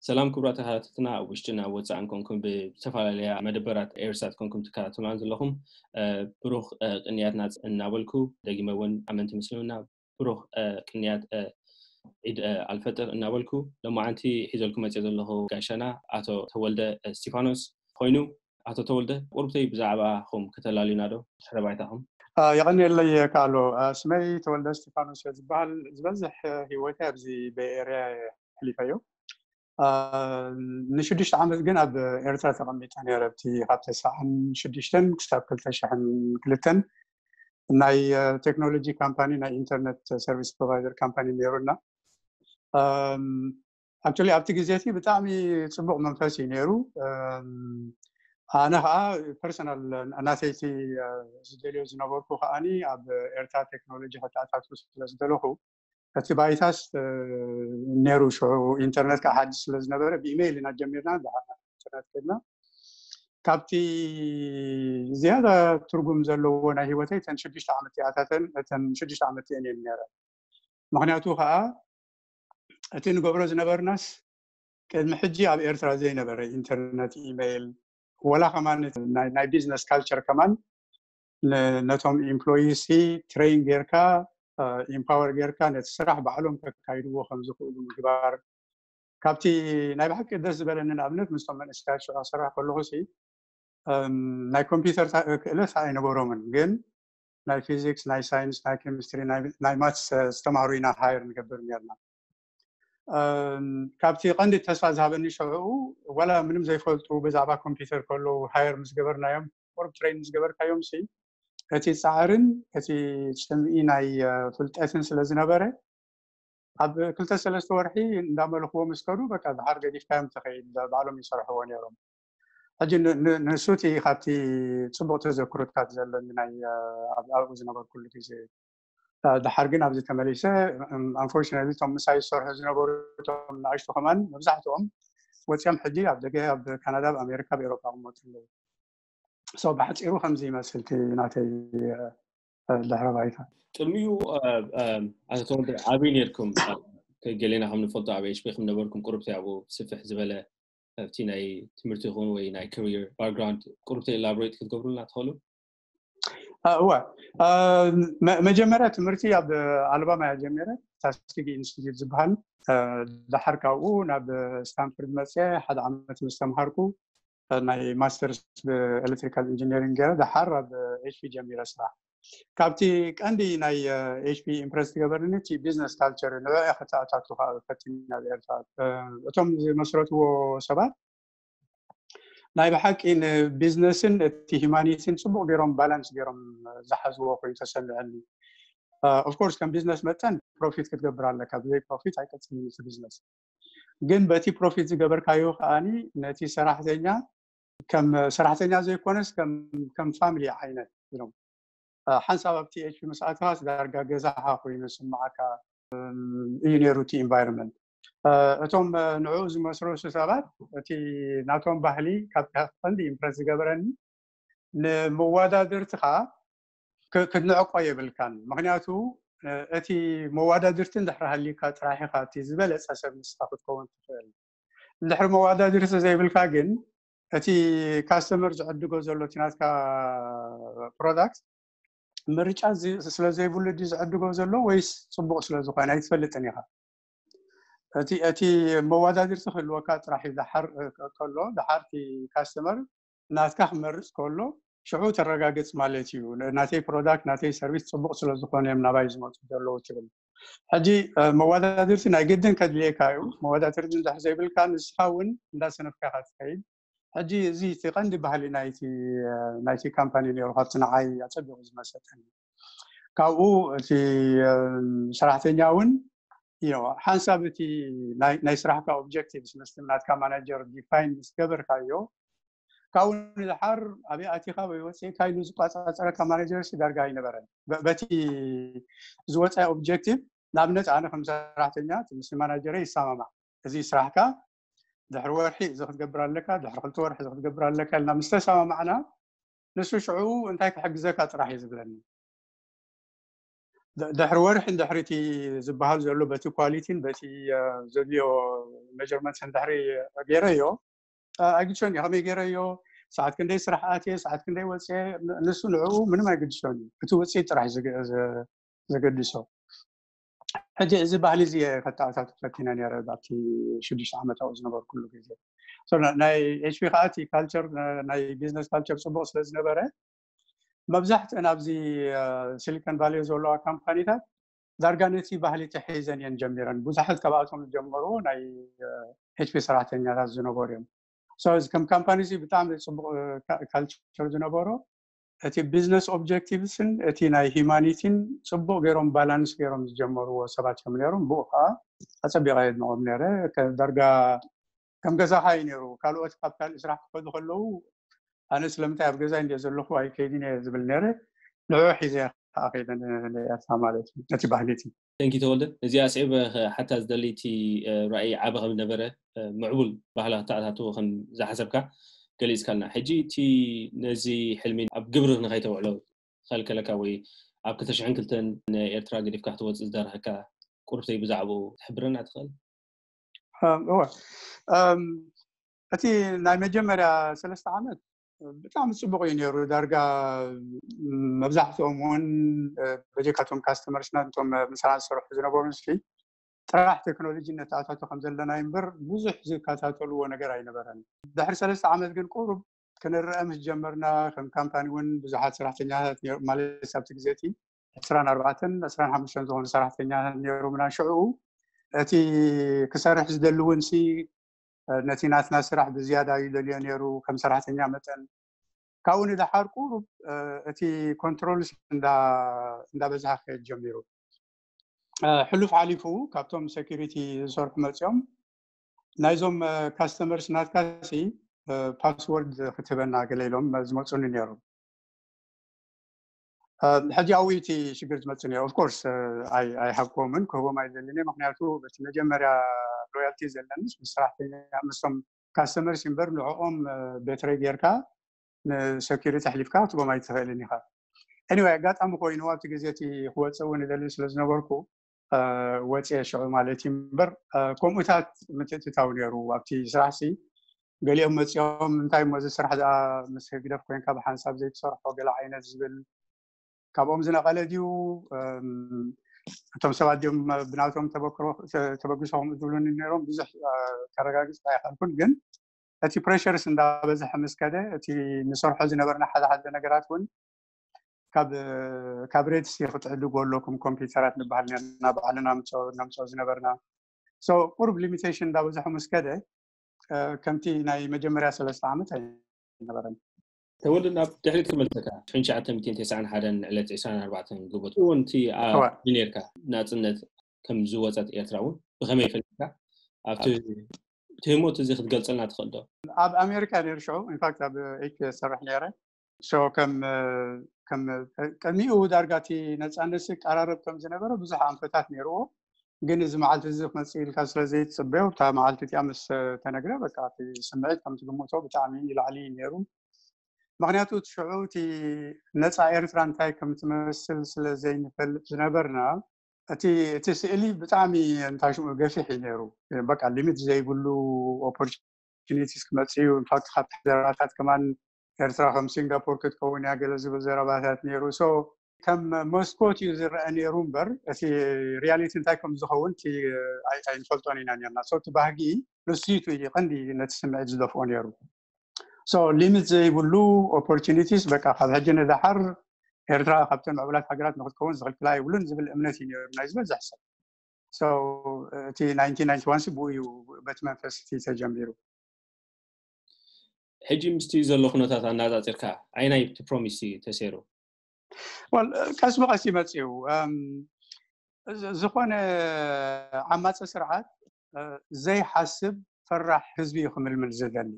ሰላም ክቡራት ተኸታተልትና፣ ኣብ ውሽጥን ኣብ ወፃእን ኮንኩም ብዝተፈላለያ መደበራት ኤርሳት ኮንኩም ትከታተሉና ዘለኹም፣ ብሩኽ ቅንያትና እናበልኩ፣ ደጊመ እውን ኣመንቲ ምስልምና ብሩኽ ቅንያት ዒድ ኣልፈጥር እናበልኩ፣ ሎማዓንቲ ሒዘልኩም መፅእ ዘለኹ ጋሻና ኣቶ ተወልደ እስቲፋኖስ ኮይኑ፣ ኣቶ ተወልደ፣ ቁርብተይ ብዛዕባኹም ከተላልዩና ዶ? ድሕረ ባይታኹም። የቐንየለይ ካሎ። ስመይ ተወልደ እስቲፋኖስ እየ ዝበሃል። ዝበዝሕ ህይወተይ ኣብዚ ቤይ ኤርያ ሕሊፈዮ። ንሽዱሽተ ዓመት ግን ኣብ ኤርትራ ተቐሚጠ ነይረ። ኣብቲ ካብ ተስዓን ሽዱሽተን ክሳብ ክልተ ሽሕን ክልተን ናይ ቴክኖሎጂ ካምፓኒ፣ ናይ ኢንተርነት ሰርቪስ ፕሮቫይደር ካምፓኒ ነይሩና። ኣክቹሊ ኣብቲ ግዜ እቲ ብጣዕሚ ፅቡቕ መንፈስ እዩ ነይሩ። ኣነ ከዓ ፐርሰናል ናተይቲ ዝደልዮ ዝነበርኩ ከዓኒ ኣብ ኤርትራ ቴክኖሎጂ ከተኣታቱ ስለ ዝደለኹ፣ እቲ ባይታስ ነይሩ ሽዑ፣ ኢንተርነት ከዓ ሓድሽ ስለ ዝነበረ ብኢሜይል ኢና ጀሚርና፣ ኢንተርነት ከድና። ካብቲ ዝያዳ ትርጉም ዘለዎ ናይ ህይወተይ እተን ሽዱሽተ ዓመት እቲኣታተን እተን ሽዱሽተ ዓመት እየን እየን ነይረ። ምክንያቱ ከዓ እቲ ንገብሮ ዝነበርናስ ቅድሚ ሕጂ ኣብ ኤርትራ ዘይነበረ ኢንተርነት፣ ኢሜይል፣ ወላ ከማን ናይ ቢዝነስ ካልቸር ከማን ነቶም ኢምፕሎይስ ትሬን ጌርካ፣ ኢምፓወር ጌርካ ነቲ ስራሕ ባዕሎም ከካይድዎ ከም ዝኽእሉ ምግባር። ካብቲ ናይ ብሓቂ ደስ ዝበለኒ ንኣብነት ምስቶም መንእሰያት ሽዑ ክሰርሕ ከለኹ ሲ ናይ ኮምፒውተር ክእለት ኣይነበሮምን፣ ግን ናይ ፊዚክስ፣ ናይ ሳይንስ፣ ናይ ኬሚስትሪ፣ ናይ ማትስ ዝተማሃሩ ኢና ሃየር ንገብር ነርና። ካብቲ ቀንዲ ተስፋ ዝሃበኒ ሽዑ፣ ዋላ ምንም ዘይፈልጡ ብዛዕባ ኮምፒውተር ከለዉ ሃየር ምስ ገበርናዮም፣ ቁሩብ ትሬን ምስ ገበርካዮም ሲ እቲ ፃዕርን እቲ ፅምኢ ናይ ፍልጠትን ስለ ዝነበረ፣ ኣብ ክልተ ሰለስተ ወርሒ እንዳመልኽዎ ምስ ከዱ፣ በቃ ድሓር ገዲፍካዮም ትኸይድ፣ ባዕሎም ይሰርሕዎ ነይሮም። ሕጂ ንሱ እቲ ካብቲ ፅቡቕ ተዘክሮታት ዘለኒ ናይ ኣብኡ ዝነበርኩሉ ግዜ። ድሓር ግን ኣብዚ ተመሊሰ፣ ኣንፎርችነትሊ እቶም ምሳይ ዝሰርሑ ዝነበሩ እቶም ንኣሽቱ ከማን መብዛሕትኦም ወፂኦም ሕጂ ኣብ ደገ፣ ኣብ ካናዳ፣ ኣብ ኣሜሪካ፣ ኣብ ኤሮፓ ይቕመጡ ኣለዉ። ሶ ብሓፂሩ ከምዚ ይመስል እቲ ናተይ ድሕረ ባይታ። ቅድሚኡ ኣቶ ተወልደ ኣበይ ነርኩም? ገሌና ከም ንፈልጦ ኣብ ኤች ፒ ከም ነበርኩም፣ ቁርብቲ ኣብኡ ስፍሕ ዝበለ ኣብቲ ናይ ትምህርቲ ይኹን ወይ ናይ ካሪየር ባክግራውንድ ቁርብቲ ኤላቦሬት ክትገብሩልና ትኽእሉ? እወ፣ መጀመርያ ትምህርቲ ኣብ ኣልባማ እያ ጀሚረ፣ ታስኪጊ ኢንስቲትዩት ዝበሃል። ድሓር ካብኡ ናብ ስታንፎርድ መፅየ ሓደ ዓመት ምስ ተምሃርኩ፣ ናይ ማስተርስ ብኤሌክትሪካል ኢንጂነሪንግ ገይረ፣ ድሓር ኣብ ኤች ፒ ጀሚረ ስራሕ። ካብቲ ቀንዲ ናይ ኤች ፒ ኢምፕረስ ዝገበርኒ እቲ ቢዝነስ ካልቸር፣ ንዕኡ እየ ከተኣታቱ ከዓ ፈቲና ኣብ ኤርትራ። እቶም ዝመስረትዎ ሰባት ናይ ብሓቂ ንቢዝነስን እቲ ሂማኒቲን ፅቡቕ ገይሮም ባላንስ ገይሮም ዝሓዝዎ ኮይኑ ተሰሚዐኒ። ኦፍኮርስ ከም ቢዝነስ መጠን ፕሮፊት ክትገብር ኣለካ፣ ብዘይ ፕሮፊት ኣይቀፅልን እቲ ቢዝነስ። ግን በቲ ፕሮፊት ዝገበርካዮ ከዓኒ ነቲ ሰራሕተኛ ከም ሰራሕተኛ ዘይኮነስ ከም ፋሚሊ ዓይነት ኢሎም ሓንሳብ ኣብቲ ኤች ፒ ምስ ኣተኻስ ዳርጋ ገዛኻ ኮይኑ ዝስምዓካ እዩ ነይሩ እቲ ኢንቫይሮንመንት። እቶም ንዕኡ ዝመስረቱ ሰባት እቲ ናቶም ባህሊ ካብቲ ቀንዲ ኢምፕረስ ዝገበረኒ፣ ንመወዳድርትኻ ክትንዕቆ የብልካን። ምክንያቱ እቲ መወዳድርቲ እንድሕር ሃልዩካ ጥራሕ ኢኻ እቲ ዝበለፀ ሰብ ንስኻ ክትከውን ትኽእል። እንድሕር መወዳድርቲ ዘይብልካ ግን እቲ ካስተመር ዝዕድጎ ዘሎ እቲ ናትካ ፕሮዳክት ምርጫ ስለ ዘይብሉ ድዩ ዝዕድጎ ዘሎ ወይስ ፅቡቕ ስለ ዝኾነ ኣይትፈልጥን ኢኻ። እቲ መወዳድርቲ ክህልወካ ጥራሕ እዩ። ድሓር ከሎ ድሓር እቲ ካስተመር ናትካ ክመርፅ ከሎ ሽዑ ተረጋግፅ ማለት እዩ። ናተይ ፕሮዳክት ናተይ ሰርቪስ ፅቡቕ ስለ ዝኾነ እዮም ናባይ ዝመፁ ዘለዉ ትብል። ሕጂ መወዳድርቲ ናይ ግድን ከድልየካ እዩ። መወዳድርቲ እንድሕር ዘይብልካ ንስኻ እውን እንዳሰነፍካ ኢኻ ትኸይድ። ሕጂ እዚ እቲ ቀንዲ ባህሊ ናይቲ ካምፓኒ ነይሩ፣ ካብቲ ንዓይ ኣፀቢቑ ዝመሰጠኒ። ካብኡ እቲ ሰራሕተኛ እውን ሓንሳብ እቲ ናይ ስራሕካ ኦብጀክቲቭስ ምስቲ ናትካ ማናጀር ዲፋይን ምስ ገበርካዮ፣ ካብኡ ንድሓር ኣበይ ኣቲኻ ወይ ወፂእካ ኢሉ ዝቆፃፀረካ ማናጀር ሲ ዳርጋ ኣይነበረን። በቲ ዝወፀ ኦብጀክቲቭ፣ ንኣብነት ኣነ ከም ሰራሕተኛ ምስቲ ማናጀረ ይሰማማዕ፣ እዚ ስራሕካ ድሕሪ ወርሒ እዚ ክትገብር ኣለካ፣ ድሕሪ ክልተ ወርሒ እዚ ክትገብር ኣለካ ኢልና ምስ ተሰማማዕና፣ ንሱ ሽዑ እንታይ ክሕግዘካ ጥራሕ እዩ ዝብለኒ። ድሕሪ ወርሒ ድሕሪ እቲ ዝበሃል ዘሎ በቲ ኳሊቲን በቲ ዘድልዮ ሜጀርመንትስን ድሕሪ ገይረዮ፣ ኣይግድሾን እዩ ከመይ ገይረዮ፣ ሰዓት ክንደይ ስራሕ ኣትየ፣ ሰዓት ክንደይ ወፅየ፣ ንሱ ንዕኡ ምንም ኣይግድሾን እዩ። እቲ ውፅኢት ጥራሕ ዘገድሶ። ሕጂ እዚ ባህሊ እዚ ከተኣታቱ ፈቲነ ነረ ኣብቲ ሽዱሽተ ዓመት ኣብኡ ዝነበርኩሉ ግዜ። ናይ ኤች ፒ ከዓ እቲ ካልቸር፣ ናይ ቢዝነስ ካልቸር ፅቡቅ ስለ ዝነበረ፣ መብዛሕትአን ኣብዚ ሲሊኮን ቫሊ ዘለዋ ካምፓኒታት ዳርጋ ነቲ ባህሊ ተሒዘን እየን ጀሚረን። ብዙሓት ካብኣቶም ዝጀመርዎ ናይ ኤች ፒ ሰራሕተኛታት ዝነበሩ እዮም። ከም ካምፓኒ ብጣዕሚ ፅቡቅ ካልቸር ዝነበሮ፣ እቲ ቢዝነስ ኦብጀክቲቭስን እቲ ናይ ሂማኒቲን ፅቡቅ ገይሮም ባላንስ ገይሮም ዝጀመርዎ ሰባት እዮም ነይሮም። ብኡ ከዓ ኣፀቢቀ የድንቆም ነረ። ዳርጋ ከም ገዛኻ እዩ ነይሩ። ካልኦት ካብ ካልእ ስራሕ ክኸዱ ከለዉ ኣነ ስለምንታይ ኣብ ገዛ እንደ ዘለኹ ኣይከይድን እየ ዝብል ነረ። ንዑ ሒዘ ከዓ ከይደ ንኤርትራ ማለት እዩ፣ ነቲ ባህሊ እቲ። ተንኪ ተወልደ፣ እዚኣ ስዒበ ሓታ ዝደሊ እቲ ራእይ ዓቢ ከም ዝነበረ፣ ምዕቡል ባህሊ ክተኣታትዎ ከም ዝሓሰብካ ገሊጽካልና። ሕጂ እቲ ነዚ ሕልሚ ኣብ ግብሪ ንኸይተውዕሎ ዝኸልከለካ ወይ ኣብ ክልተ ሽሕን ክልተን ንኤርትራ ገዲፍካ ክትወጽእ ዝደረኸካ ቁርብተይ ብዛዕባኡ ትሕብረና ትኽእል? እወ፣ እቲ ናይ መጀመርያ ሰለስተ ዓመት ብጣዕሚ ፅቡቅ እዩ ነይሩ። ዳርጋ መብዛሕትኦም እውን በጀካቶም ካስተመርስና እቶም ምሳና ዝሰርሑ ዝነበሩ ንስሊ ጥራሕ ቴክኖሎጂ ነተኣታቶ ከም ዘለና እምበር ብዙሕ ዝከታተልዎ ነገር ኣይነበረን። ድሕሪ ሰለስተ ዓመት ግን ቁሩብ ክንረአ ምስ ጀመርና ከም ካምፓኒ እውን ብዙሓት ሰራሕተኛታት ማለት ኣብቲ ግዜ እቲ ዕስራን ኣርባዕተን ዕስራን ሓሙሽተን ዝኾኑ ሰራሕተኛታት ነይሩምና። ሽዑ እቲ ክሰርሕ ዝደሊ እውን ሲ ነቲ ናትና ስራሕ ብዝያዳ እዩ ደልዮ ነይሩ ከም ሰራሕተኛ መጠን። ካብኡ ንደሓር ቁሩብ እቲ ኮንትሮልስ እንዳበዝሃ ክኸድ ጀሚሩ። ሕሉፍ ሓሊፉ ካብቶም ሴኩሪቲ ዝሰርሑ መፂኦም ናይዞም ካስተመርስ ናትካ ሲ ፓስወርድ ክትህበና ገለ ኢሎም ዝመፁኒ ነይሩ። ሕጂ ኣብኡ እቲ ሽግር ዝመፅእ ነይሩ። ኦፍኮርስ ኣይሃብክዎምን ክህቦም ኣይደልን እየ። ምክንያቱ በቲ መጀመርያ ሎያልቲ ዘለንስ ምስ ሰራሕተኛ ምስቶም ካስተመርስ እምበር ንዕኦም ቤትረይ ጌርካ ንሰኪሪቲ ኣሕሊፍካ ክትቦም ኣይትኽእልን ኢኻ። ኤኒወይ ኣጋጣሚ ኮይኑ ኣብቲ ግዜ እቲ ክወፅእ እውን ይደሊ ስለ ዝነበርኩ ወፅየ ሽዑ ማለት እዩ። እምበር ከምኡታት ምትእትታው ነይሩ ኣብቲ ስራሕ ሲ ገሊኦም መፂኦም እንታይ እሞ እዚ ስራሕ ደኣ ምስ ህግደፍ ኮይንካ ብሓንሳብ ዘይትሰርሖ ገለ ዓይነት ዝብል ካብኦም ዝነቐለ ድዩ? እቶም ሰባት ድዮም ብናቶም ተበግሶ ከምኡ ዝብሉኒ ነይሮም። ብዙሕ ከረጋግፅ ኣይኸልኩን፣ ግን እቲ ፕሬሸርስ እንዳበዝሐ ምስ ከደ እቲ ንሰርሖ ዝነበርና ሓደ ሓደ ነገራት እውን ካብ ካብ ሬድሲ ክትዕድጉ ኣለኩም ኮምፒውተራት ንበሃል ነርና ባዕልና ነምፅኦ ዝነበርና። ቁሩብ ሊሚቴሽን እንዳበዝሐ ምስ ከደ ከምቲ ናይ መጀመርያ ሰለስተ ዓመት ኣይነበረን። ተወልደ፣ ናብ ድሕሪት ክመልሰካ። ሽሕን ትሽዓተ ሚእትን ተስዓን ሓደን ዕለት ዕስራን ኣርባዕተን ግንቦት እውን እቲ ነርካ ናፅነት ከም ዝወፀት ኤርትራ እውን ብኸመይ ፈሊጥካ? ኣብቲ ትህሞት እዚ ክትገልፀልና ትኽእል ዶ? ኣብ ኣሜሪካ ነይሩ ሽዑ ኢንፋክት ኣብ ኤች ሰርሕ ነይረ። ከም ቅድሚኡ ዳርጋ እቲ ነፃነት ቀራረብ ከም ዝነበረ ብዙሕ ኣንፈታት ነይርዎ። ግን እዚ መዓልቲ እዚ ክመፅእ ኢልካ ስለ ዘይትፅበዮ እታ መዓልቲ እቲኣ ምስ ተነግረ በቃ እቲ ስምዒት ከም ትግምቶ ብጣዕሚ ይላዕሊ እዩ ነይሩ። ምክንያቱ እቲ ሽዑ እቲ ነፃ ኤርትራ እንታይ ከም ትመስል ስለ ዘይንፈልጥ ዝነበርና እቲ እቲ ስእሊ ብጣዕሚ እንታይ ሽሙ ገፊሕ እዩ ነይሩ። በቃ ሊሚት ዘይብሉ ኦፖርቹኒቲስ ክመፅእ እዩ። ኢንፋክት ካብቲ ዘረባታት ከማን ኤርትራ ከም ሲንጋፖር ክትከውን እያ ገለ ዝብል ዘረባታት ነይሩ። ሶ ከም መስኮት እዩ ዝረአ ነይሩ እምበር እቲ ሪያሊቲ እንታይ ከም ዝኸውን እቲ ኣይ- ኣይንፈልጦን ኢና ነርና። ሶ እቲ ባህጊ ንሱ እዩ እቲ ቀንዲ ነቲ ስምዒት ዝደፍኦ ነይሩ። ሶ ሊሚት ዘይብሉ ኦፖርቹኒቲስ በቃ ካብ ሕጂ ንደሓር ኤርትራ ካብተን ምዕቡላት ሃገራት ንክትከውን ዝኽልክላ የብሉን ዝብል እምነት እዩ ነይሩ ናይ ዝበዝሕ ሰብ። ሶ እቲ ናይንቲን ናይንቲ ዋን ሲ ብኡ እዩ በቲ መንፈስ እቲ ተጀሚሩ። ሕጂ ምስቲ ዘሎ ኩነታት ኣነፃፂርካ ኣይናይ እቲ ፕሮሚስ ተሰይሩ? ወል ቀስ ብቐስ ይመፅኡ። ዝኾነ ዓማፂ ስርዓት ዘይሓስብ ፈራሕ ህዝቢ እዩ ክምልምል ዝደሊ።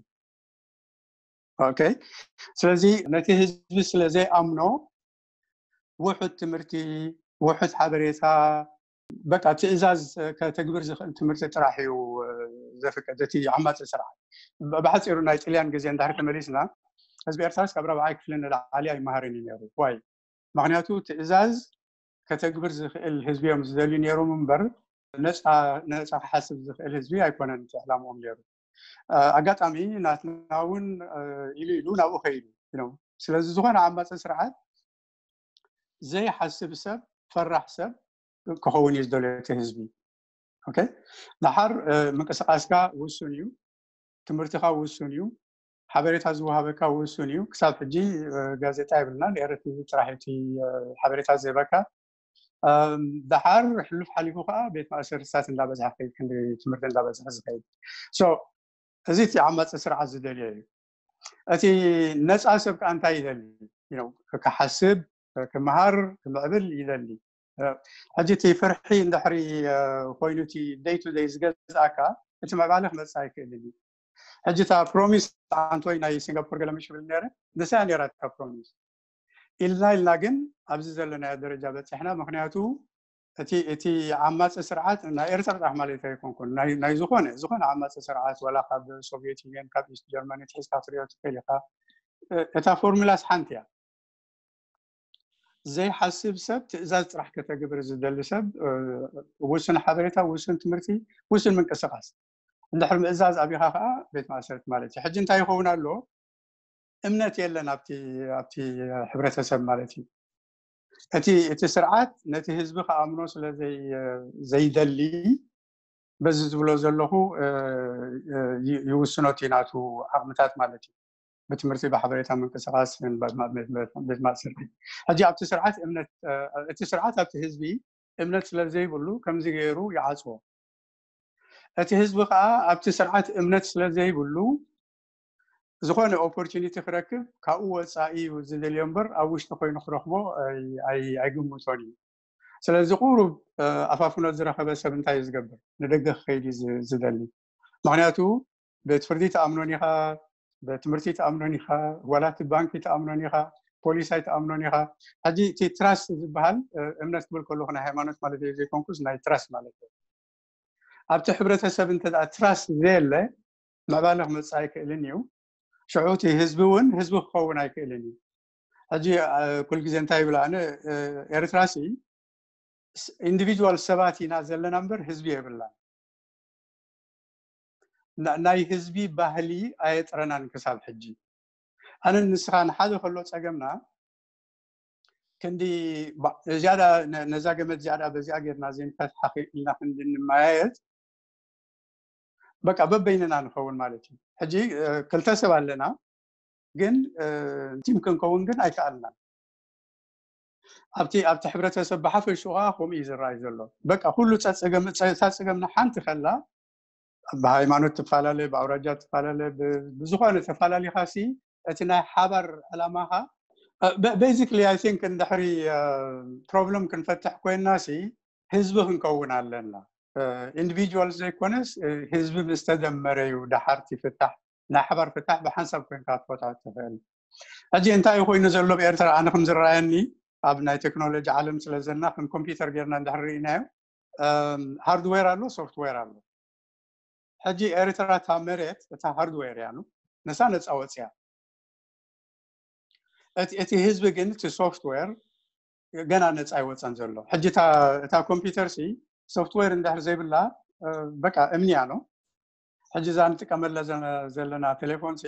ኦኬ፣ ስለዚ ነቲ ህዝቢ ስለ ዘይኣምኖ ውሑድ ትምህርቲ፣ ውሑድ ሓበሬታ፣ በቃ ትእዛዝ ከተግብር ዝኽእል ትምህርቲ ጥራሕ እዩ ዘፍቅድ እቲ ዓማፂ ስርዓት። ብሓፂሩ ናይ ጥልያን ግዜ እንድሕር ተመሊስና ህዝቢ ኤርትራስ ካብ ራብዓይ ክፍሊ ንላዕሊ ኣይመሃርን እዩ ነይሩ። ዋይ? ምክንያቱ ትእዛዝ ከተግብር ዝኽእል ህዝቢ እዮም ዝደልዩ ነይሮም እምበር ነፃ ነፃ ክሓስብ ዝኽእል ህዝቢ ኣይኮነን እቲ ዕላምኦም ነይሩ። ኣጋጣሚ ናትና እውን ኢሉ ኢሉ ናብኡ ከይዱ። ስለዚ ዝኾነ ዓማፂ ስርዓት ዘይሓስብ ሰብ፣ ፈራሕ ሰብ ክኸውን እዩ ዝደልዮ እቲ ህዝቢ። ኦኬ፣ ደሓር ምንቅስቃስካ ውሱን እዩ፣ ትምህርትኻ ውሱን እዩ፣ ሓበሬታ ዝወሃበካ ውሱን እዩ። ክሳብ ሕጂ ጋዜጣ የብልናን፣ ኤረትቪ ጥራሕ እቲ ሓበሬታ ዝህበካ። ደሓር ሕሉፍ ሓሊፉ ከዓ ቤት ማእሰርትታት እንዳበዝሐ ከይድ፣ ክንዲ ትምህርቲ እንዳበዝሐ ዝኸይድ። እዚ እቲ ዓማፂ ስርዓት ዝደልዮ እዩ። እቲ ነፃ ሰብ ከዓ እንታይ ይደሊ? ክሓስብ፣ ክመሃር፣ ክምዕብል ይደሊ። ሕጂ እቲ ፍርሒ እንድሕሪ ኮይኑ እቲ ደይ ቱ ደይ ዝገዝኣካ እቲ ምዕባለ ክመፅእ ኣይክእልን እዩ። ሕጂ እታ ፕሮሚስ ኣንቶይ ናይ ሲንጋፖር ገለ ምሽ ብል ነረ ንሳ ነራ እታ ፕሮሚስ ኢልና ኢልና ግን ኣብዚ ዘለናዮ ደረጃ በፂሕና። ምክንያቱ እቲ እቲ ዓማፂ ስርዓት ናይ ኤርትራ ጥራሕ ማለት ኣይኮንኩን፣ ናይ ዝኾነ ዝኾነ ዓማፂ ስርዓት፣ ዋላ ካብ ሶቪየት ዩኒየን፣ ካብ ኢስት ጀርመኒ ትሒዝካ ክትሪኦ ትኽእል ኢኻ። እታ ፎርሙላስ ሓንቲ እያ። ዘይሓስብ ሰብ፣ ትእዛዝ ጥራሕ ከተግብር ዝደሊ ሰብ፣ ውሱን ሓበሬታ፣ ውሱን ትምህርቲ፣ ውሱን ምንቅስቃስ። እንድሕር ምእዛዝ ኣቢኻ ከዓ ቤት ማእሰርቲ ማለት እዩ። ሕጂ እንታይ ይኸውን ኣሎ? እምነት የለን ኣብቲ ኣብቲ ሕብረተሰብ ማለት እዩ። እቲ እቲ ስርዓት ነቲ ህዝቢ ክኣምኖ ስለ ዘይደሊ በዚ ዝብሎ ዘለኹ ይውስኖ እቲ ናቱ ዓቕምታት ማለት እዩ። ብትምህርቲ፣ ብሓበሬታ ምንቅስቃስ፣ ቤት ማእሰርቲ። ሕጂ ኣብቲ ስርዓት እምነት እቲ ስርዓት ኣብቲ ህዝቢ እምነት ስለ ዘይብሉ ከምዚ ገይሩ ይዓፅዎ። እቲ ህዝቢ ከዓ ኣብቲ ስርዓት እምነት ስለ ዘይብሉ ዝኾነ ኦፖርቹኒቲ ክረክብ ካብኡ ወፃኢ እዩ ዝደልዮ እምበር ኣብ ውሽጢ ኮይኑ ክረክቦ ኣይግምቶን እዩ። ስለዚ ቁሩብ ኣፋፍኖት ዝረኸበ ሰብ እንታይ እዩ ዝገብር? ንደገ ክኸይድ እዩ ዝደሊ። ምክንያቱ ቤት ፍርዲ ተኣምኖን ኢኻ፣ ቤት ትምህርቲ ተኣምኖን ኢኻ፣ ዋላ እቲ ባንኪ ተኣምኖን ኢኻ፣ ፖሊስ ኣይተኣምኖን ኢኻ። ሕጂ እቲ ትራስት ዝበሃል እምነት ክብል ከለኹ ናይ ሃይማኖት ማለት እዩ ዘይኮንኩስ ናይ ትራስት ማለት እዩ። ኣብቲ ሕብረተሰብ እንተ ትራስት ዘየለ ምዕባለ ክመፅእ ኣይክእልን እዩ። ሽዑ እቲ ህዝቢ እውን ህዝቢ ክኸውን ኣይክእልን እዩ። ሕጂ ኩል ግዜ እንታይ ይብል ኣነ ኤርትራ ሲ ኢንዲቪጁዋል ሰባት ኢና ዘለና እምበር ህዝቢ የብላን። ናይ ህዝቢ ባህሊ ኣየጥረናን ክሳብ ሕጂ። ኣነ ንስኻ ንሓደ ከሎ ፀገምና ክንዲ ዝያዳ ነዛ ገመድ ዝያዳ በዚኣ ጌርና ዘይንፈትሓ ኢልና ክንዲ ንመያየጥ በቃ በበይንና ንኸውን ማለት እዩ። ሕጂ ክልተ ሰብ ኣለና ግን ቲም ክንከውን ግን ኣይከኣልናን። ኣብቲ ኣብቲ ሕብረተሰብ ብሓፈሽኡ ከዓ ከምኡ እዩ ዝረኣይ ዘሎ። በቃ ኩሉ ፀፀገም ፀገምና ሓንቲ ከላ ብሃይማኖት ትፈላለ፣ ብኣውራጃ ትፈላለ፣ ብዝኾነ ተፈላለኻ ሲ እቲ ናይ ሓባር ዕላማኻ basically I think እንድሕሪ ፕሮብለም ክንፈትሕ ኮይንና ሲ ህዝቢ ክንከውን ኣለና። ኢንዲቪጁዋል ዘይኮነስ ህዝቢ ምስ ተደመረ እዩ ደሓርቲ ፍታሕ ናይ ሓባር ፍታሕ ብሓንሳብ ኮይንካ ክትፈትሖ ትኽእል። ሕጂ እንታይ ኮይኑ ዘሎ ብኤርትራ ኣነ ከም ዝረኣየኒ ኣብ ናይ ቴክኖሎጂ ዓለም ስለ ዘለና ከም ኮምፒውተር ጌርና እንድሕር ርኢናዮ ሃርድዌር ኣሎ ሶፍትዌር ኣሎ። ሕጂ ኤርትራ እታ መሬት እታ ሃርድዌር እያ ንሳ ነፃ ወፅያ። እቲ ህዝቢ ግን እቲ ሶፍትዌር ገና ነፃ ኣይወፀን ዘሎ። ሕጂ እታ ኮምፒውተር ሲ ሶፍትዌር እንድሕር ዘይብላ በቃ እምኒ እያ ነው። ሕጂ እዛ ንጥቀመላ ዘለና ቴሌፎን ሲ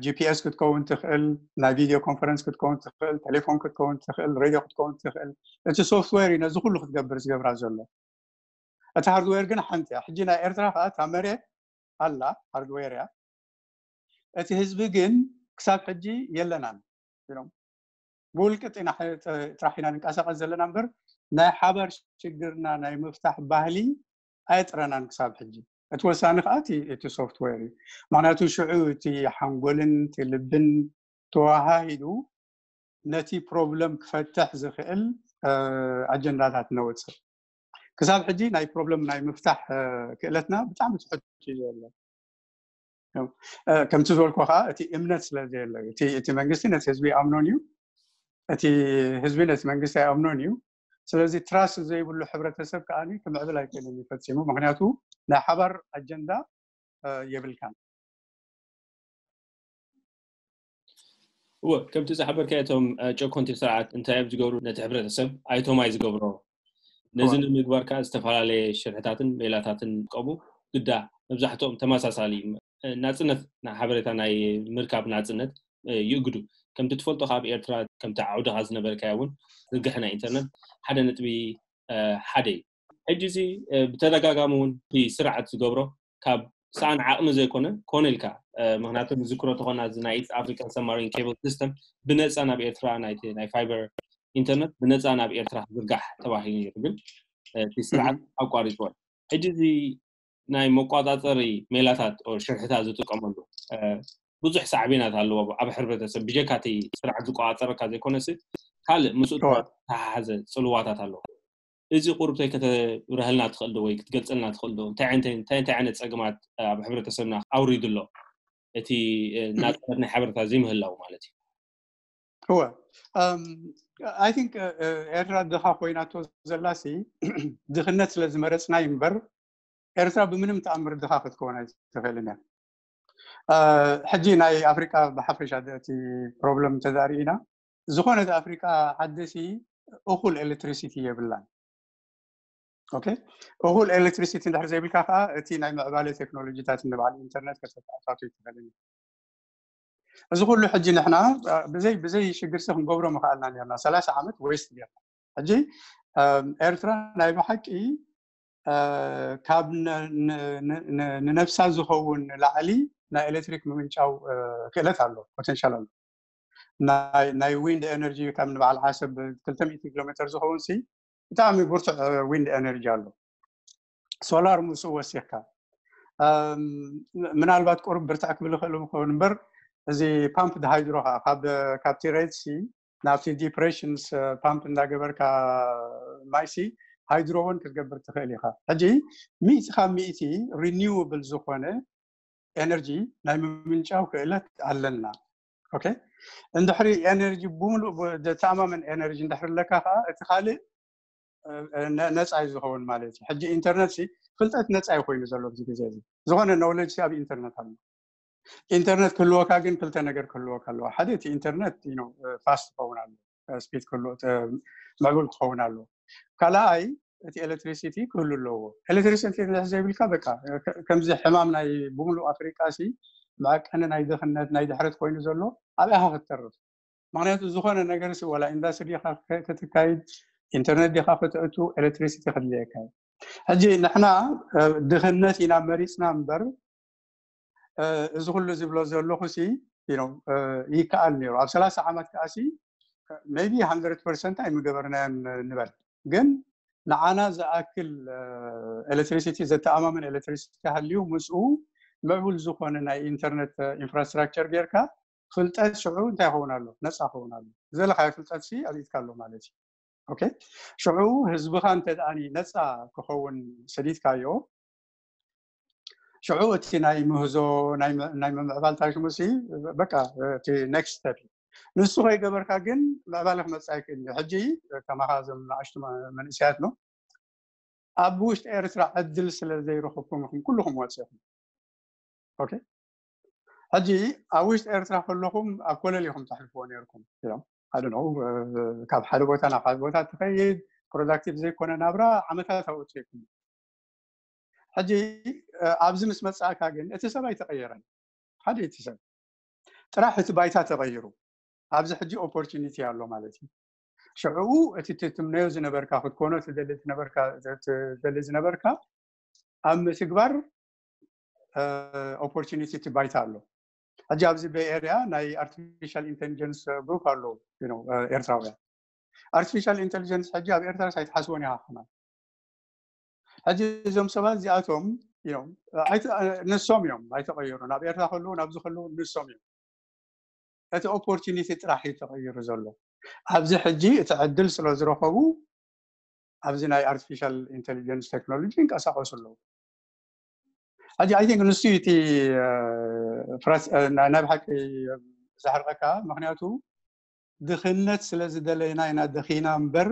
ጂፒኤስ ክትከውን ትኽእል፣ ናይ ቪዲዮ ኮንፈረንስ ክትከውን ትኽእል፣ ቴሌፎን ክትከውን ትኽእል፣ ሬድዮ ክትከውን ትኽእል። እቲ ሶፍትዌር እዩ ነዚ ኩሉ ክትገብር ዝገብራ ዘሎ። እቲ ሃርድዌር ግን ሓንቲ እያ። ሕጂ ናይ ኤርትራ ከዓ እታ መሬት ኣላ ሃርድዌር እያ። እቲ ህዝቢ ግን ክሳብ ሕጂ የለናን ኢሎም ብውልቂ ጥራሕ ኢና ንንቀሳቀስ ዘለና እምበር ናይ ሓባር ሽግርና ናይ ምፍታሕ ባህሊ ኣየጥረናን ክሳብ ሕጂ። እቲ ወሳኒ ከዓ እቲ ሶፍትዌር እዩ። ምክንያቱ ሽዑ እቲ ሓንጎልን እቲ ልብን ተዋሃሂዱ ነቲ ፕሮብለም ክፈትሕ ዝኽእል ኣጀንዳታት ነውፅእ። ክሳብ ሕጂ ናይ ፕሮብለም ናይ ምፍታሕ ክእለትና ብጣዕሚ ትሕት እዩ ዘሎ። ከምቲ ዝበልኩ ከዓ እቲ እምነት ስለ ዘየለ እቲ መንግስቲ ነቲ ህዝቢ ይኣምኖን እዩ፣ እቲ ህዝቢ ነቲ መንግስቲ ኣይኣምኖን እዩ። ስለዚ ትራስት ዘይብሉ ሕብረተሰብ ከዓ ክምዕብል ኣይክእልን እዩ ፈፂሙ። ምክንያቱ ናይ ሓባር ኣጀንዳ የብልካን። እወ፣ ከምቲ ዝሓበርካ፣ እቶም ጨኮንቲ ስርዓት እንታይ እዮም ዝገብሩ? ነቲ ሕብረተሰብ ኣይቶማይ ዝገብሮ። ነዚ ንምግባር ከዓ ዝተፈላለየ ሽርሕታትን ሜላታትን ቀቡ ግዳ። መብዛሕትኦም ተመሳሳሊ ናፅነት፣ ሓበሬታ ናይ ምርካብ ናፅነት ይእግዱ። ከምቲ ትፈልጦ ካብ ኤርትራ፣ ከምቲ ዓውድኻ ዝነበርካዮ እውን ዝርግሐ ናይ ኢንተርነት ሓደ ነጥቢ ሓደ እዩ። ሕጂ እዚ ብተደጋጋሚ እውን እቲ ስርዓት ዝገብሮ ካብ ሰኣን ዓቕሚ ዘይኮነ፣ ኮነ ኢልካ፣ ምክንያቱ ንዝክሮ ተኾና እዚ ናይ ኢስት ኣፍሪካን ሰብማሪን ኬብል ሲስተም ብነፃ ናብ ኤርትራ፣ ናይ ፋይበር ኢንተርነት ብነፃ ናብ ኤርትራ ክዝርጋሕ ተባሂሉ ነይሩ፣ ግን እቲ ስርዓት ኣቋሪፅዎ። ሕጂ እዚ ናይ መቋፃፀሪ ሜላታት ሽርሕታት ዝጥቀመሉ ብዙሕ ሳዕቤናት ኣለዎ ኣብ ሕብረተሰብ። ብጀካ እቲ ስርዓት ዝቆፃፀረካ ዘይኮነስ ካልእ ምስኡ ተሓሓዘ ፅልዋታት ኣለዎ። እዚ ቁርብተይ ከተብረሃልና ትኽእል ዶ ወይ ክትገልፀልና ትኽእል ዶ? እንታይ እንታይ ዓይነት ፀገማት ኣብ ሕብረተሰብና ኣውሪዱ ኣሎ? እቲ ናፅነት ናይ ሓበሬታ ዘይምህላው ማለት እዩ። እወ፣ I think ኤርትራ ድኻ ኮይናቶ ዘላሲ ድኽነት ስለ ዝመረፅና እምበር ኤርትራ ብምንም ተኣምር ድኻ ክትከውን ኣይትኽእልን እያ። ሕጂ ናይ ኣፍሪቃ ብሓፈሻ እቲ ፕሮብለም እንተዘሪእና፣ ዝኾነት ኣፍሪቃ ዓደሲ እኹል ኤሌክትሪሲቲ የብላን። ኦኬ፣ እኹል ኤሌክትሪሲቲ እንድሕር ዘይብልካ ከዓ እቲ ናይ ምዕባለ ቴክኖሎጂታት ንበዓል ኢንተርነት ከተተኣታቶ ይትኽእልን። እዚ ኩሉ ሕጂ ንሕና ብዘይ ብዘይ ሽግርሲ ክንገብሮ ምኽኣልና ነርና። ሰላሳ ዓመት ዌስት ጌርና። ሕጂ ኤርትራ ናይ ብሓቂ ካብ ንነብሳ ዝኸውን ንላዕሊ ናይ ኤሌክትሪክ ምምንጫው ክእለት ኣሎ፣ ፖቴንሻል ኣሎ። ናይ ዊንድ ኤነርጂ ካብ ንበዓል ዓሰብ ክልተ ሚእቲ ኪሎ ሜትር ዝኸውን ሲ ብጣዕሚ ብርቱዕ ዊንድ ኤነርጂ ኣሎ። ሶላር ምስኡ ወሲኽካ ምናልባት ቁሩብ ብርትዕ ክብል ይኽእል ክኸውን እምበር፣ እዚ ፓምፕ ሃይድሮ ከዓ ካብቲ ሬድሲ ናብቲ ዲፕሬሽንስ ፓምፕ እንዳገበርካ ማይሲ ሃይድሮ እውን ክትገብር ትኽእል ኢኻ። ሕጂ ሚእቲ ካብ ሚእቲ ሪኒውብል ዝኾነ ኤነርጂ ናይ ምምንጫው ክእለት ኣለና። ኦኬ፣ እንድሕሪ ኤነርጂ ብምሉእ ዘተኣማመን ኤነርጂ እንድሕሪ ኣለካ ከዓ እቲ ካልእ ነፃ እዩ ዝኸውን ማለት እዩ። ሕጂ ኢንተርነት ሲ ፍልጠት ነፃ እዩ ኮይኑ ዘሎ ኣብዚ ግዜ እዚ። ዝኾነ ኖውለጅ ሲ ኣብ ኢንተርነት ኣሎ። ኢንተርነት ክህልወካ ግን ክልተ ነገር ክህልወካ ኣለዎ። ሓደ እቲ ኢንተርነት ፋስት ክኸውን ኣሎ፣ ስፒድ ክህልዎ፣ ምዕቡል ክኸውን ኣለዎ። ካልኣይ እቲ ኤሌክትሪሲቲ ክህሉ ኣለዎ። ኤሌክትሪሲቲ ዘይብልካ በቃ ከምዚ ሕማም ናይ ብምሉእ ኣፍሪቃ ሲ መዐቀኒ ናይ ድኽነት ናይ ድሕረት ኮይኑ ዘሎ ኣብያኻ ክትተርፍ። ምክንያቱ ዝኾነ ነገር ሲ ዋላ ኢንዳስትሪ ዲኻ ክትካይድ፣ ኢንተርነት ዲኻ ክትእቱ፣ ኤሌክትሪሲቲ ክድልየካ እዩ። ሕጂ ንሕና ድኽነት ኢና መሪፅና እምበር እዚ ኩሉ ዝብሎ ዘለኹ ሲ ይከኣል ነይሩ። ኣብ ሰላሳ ዓመት ከዓ ሲ maybe hundred percent ኣይምገበርናዮን ንበል፣ ግን ንዓና ዝኣክል ኤሌክትሪሲቲ ዘተኣማምን ኤሌክትሪሲቲ ሃልዩ ምስኡ ምዕቡል ዝኾነ ናይ ኢንተርነት ኢንፍራስትራክቸር ጌርካ ፍልጠት ሽዑ እንታይ ይኸውን ኣሎ? ነፃ ይኸውን ኣሎ። ዝደለኻዮ ፍልጠት ሲ ኣዚዝካ ኣሎ ማለት እዩ። ኦኬ፣ ሽዑ ህዝብኻ እንተ ደኣኒ ነፃ ክኸውን ሰዲድካዮ፣ ሽዑ እቲ ናይ ምህዞ ናይ ምምዕባል ታሽሙሲ በቃ እቲ ኔክስት ስቴፕ እዩ። ንሱ ከይገበርካ ግን ምዕባለ ክመፅእ ኣይክእል እዩ። ሕጂ ከማኻ እዞም ንኣሽቱ መንእሰያት ነው ኣብ ውሽጢ ኤርትራ ዕድል ስለ ዘይረኸብኩም ኢኹም ኩልኹም ወፂኹም። ኦኬ፣ ሕጂ ኣብ ውሽጢ ኤርትራ ከለኹም ኣብ ኮለል ኢኹም ተሕልፍዎ ነርኩም ኢሎም። ኣደ ነው ካብ ሓደ ቦታ ናብ ሓደ ቦታ ትኸይድ፣ ፕሮዳክቲቭ ዘይኮነ ናብራ ዓመታት ኣውፅኢኩም። ሕጂ ኣብዚ ምስ መፃእካ ግን እቲ ሰብ ኣይተቐየረን። ሓደ እቲ ሰብ ጥራሕ እቲ ባይታ ተቐይሩ፣ ኣብዚ ሕጂ ኦፖርቹኒቲ ኣሎ ማለት እዩ። ሽዕኡ እቲ ትትምነዮ ዝነበርካ ክትኮኖ ትደሊ ዝነበርካ ኣብ ምትግባር ኦፖርቹኒቲ እቲ ባይታ ኣሎ። ሕጂ ኣብዚ ቤይ ኤርያ ናይ ኣርቲፊሻል ኢንቴሊጀንስ ግሩፕ ኣሎ ኤርትራውያን። ኣርቲፊሻል ኢንቴሊጀንስ ሕጂ ኣብ ኤርትራ ኣይትሓስቦን ኢኻ ከማን። ሕጂ እዞም ሰባት እዚኣቶም ንሶም እዮም ኣይተቐየሩን። ኣብ ኤርትራ ከለዉ ናብዚ ከለዉ ንሶም እዮም። እቲ ኦፖርቹኒቲ ጥራሕ እዩ ተቐይሩ ዘሎ። ኣብዚ ሕጂ እቲ ዕድል ስለ ዝረኸቡ ኣብዚ ናይ ኣርቲፊሻል ኢንቴሊጀንስ ቴክኖሎጂ ይንቀሳቐሱ ኣለዉ። ሕጂ ኣይ ቲንክ ንሱ እቲ ናይ ብሓቂ ዘሕርቐካ፣ ምክንያቱ ድኽነት ስለ ዝደለና ኢና ደኺና እምበር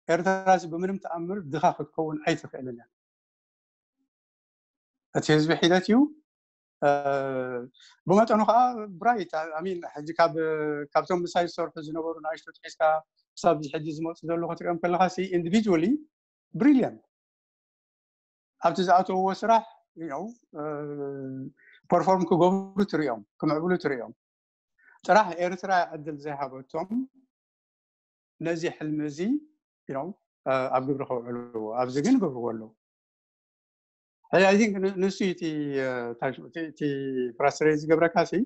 ኤርትራስ ብምንም ተኣምር ድኻ ክትከውን ኣይትኽእልን እያ። እቲ ህዝቢ ሒደት እዩ። ብመጠኑ ከዓ ብራይት ሚን ሕጂ ካብ ካብቶም ምሳይ ዝሰርሑ ዝነበሩ ንኣሽቱ ትሒዝካ ክሳብ ሕጂ ዝመፁ ዘለዉ ክትሪኦም ከለካ ሲ ኢንዲቪጁዋሊ ብሪሊየንት ኣብቲ ዝኣተውዎ ስራሕ ፐርፎርም ክገብሩ ትሪኦም ክምዕብሉ ትሪኦም ጥራሕ ኤርትራ ዕድል ዘይሃበቶም ነዚ ሕልሚ እዚ ኣብ ግብሪ ከውዕልዎ ኣብዚ ግን ገብርዎ ኣለዉ ሕዚ I think ንሱ እቲ እቲ ፍራስትሬት ዝገብረካ ሲ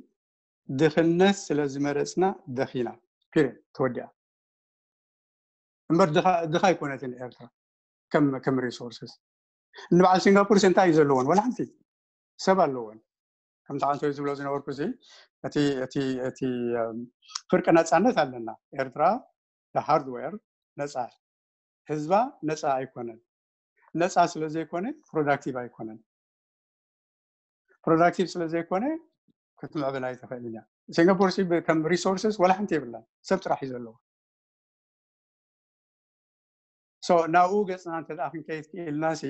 ድኽነት ስለ ዝመረፅና ደኺና ፒሪድ ተወዲኣ እምበር ድኻ ኣይኮነትን ኤርትራ ከም ከም ሪሶርስስ ንበዓል ሲንጋፖር እንታይ እዩ ዘለዎን ወላ ሓንቲ ሰብ ኣለዎን ከምቲ ኣንቶይ ዝብሎ ዝነበርኩ እዚ እቲ እቲ እቲ ፍርቂ ነፃነት ኣለና ኤርትራ ሃርድዌር ነፃ ህዝባ ነፃ ኣይኮነን ነፃ ስለ ዘይኮነ ፕሮዳክቲቭ ኣይኮነን ፕሮዳክቲቭ ስለ ዘይኮነ ክትምዕብል ኣይትኽእልን እያ ሲንጋፖር ከም ሪሶርስስ ወላ ሓንቲ የብላን ሰብ ጥራሕ እዩ ዘለዎ ናብኡ ገፅና እንተ ክንከይድ ክኢልና ሲ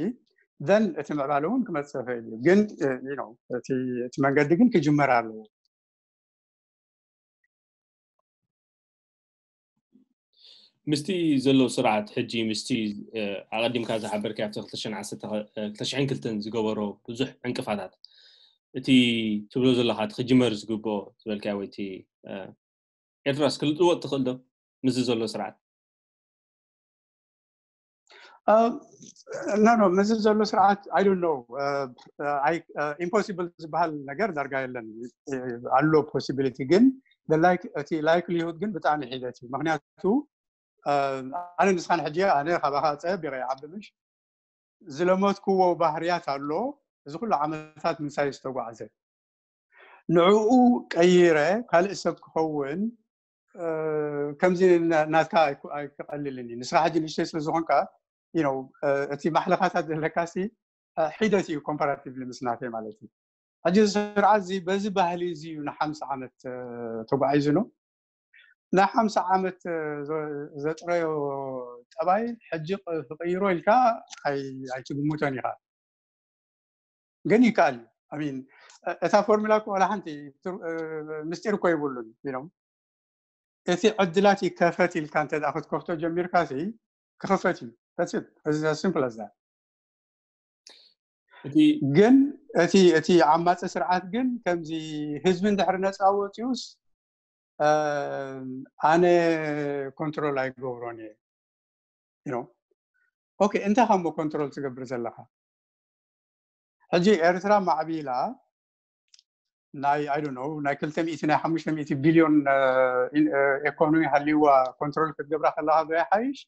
ዘን እቲ ምዕባለ እውን ክመፅእ ይኽእል እዩ ግን እቲ መንገዲ ግን ክጅመር ኣለዎ ምስቲ ዘሎ ስርዓት ሕጂ ምስቲ ኣቐዲምካ ዝሓበርካ ኣብቲ ክልተ ሽሕን ክልተን ዝገበሮ ብዙሕ ዕንቅፋታት እቲ ትብሎ ዘለካ እቲ ክጅመር ዝግብኦ ዝበልካ ወይ እቲ ኤርትራስ ክልጥወጥ ትኽእል ዶ ምስዚ ዘሎ ስርዓት ኖ ኖ ምስዚ ዘሎ ስርዓት I don't know ኢምፖሲብል ዝበሃል ነገር ዳርጋ የለን ኣሎ ፖሲቢሊቲ ግን እቲ ላይክሊሁድ ግን ብጣዕሚ ሒደት እዩ ምክንያቱ ኣነ ንስኻን ሕጂ ኣነ ካባኻ ፀቢቐ ይዓቢ ምሽ ዝለመድክዎ ባህርያት ኣሎ እዚ ኩሉ ዓመታት ምሳይ ዝተጓዕዘ ንዕኡ ቀይረ ካልእ ሰብ ክኸውን ከምዚ ናትካ ኣይክቐልልን እዩ ንስኻ ሕጂ ንእሽተይ ስለ ዝኾንካ እቲ ማሕለኻታት ዘለካ ሲ ሒደት እዩ ኮምፓራቲቭሊ ምስ ናተይ ማለት እዩ ሕጂ ስርዓት እዚ በዚ ባህሊ እዚ እዩ ንሓምሳ ዓመት ተጓዒዙ ነው ናይ ሓምሳ ዓመት ዘጥረዮ ጠባይ ሕጂ ክቅይሮ ኢልካ ኣይትግምቶን ኢኻ ግን ይከኣል እዩ ሚን እታ ፎርሙላ እኮ ዋላ ሓንቲ ምስጢር እኮ ይብሉን ኢሎም እቲ ዕድላት ይከፈት ኢልካ እንተ ክትከፍቶ ጀሚርካ ክኸፈት እዩ simple as that ግን እቲ እቲ ዓማፂ ስርዓት ግን ከምዚ ህዝቢ እንድሕር ነፃ ወፂኡስ ኣነ ኮንትሮል ኣይገብሮን እየ ኦኬ እንታይ ካብ ኮንትሮል ትገብር ዘለካ ሕጂ ኤርትራ ማዕቢላ ናይ I don't know ናይ ክልተ ሚእቲ ናይ ሓሙሽተ ሚእቲ ቢልዮን ኢኮኖሚ ሃልይዋ ኮንትሮል ክትገብራ ከለካ ዶ ይሓይሽ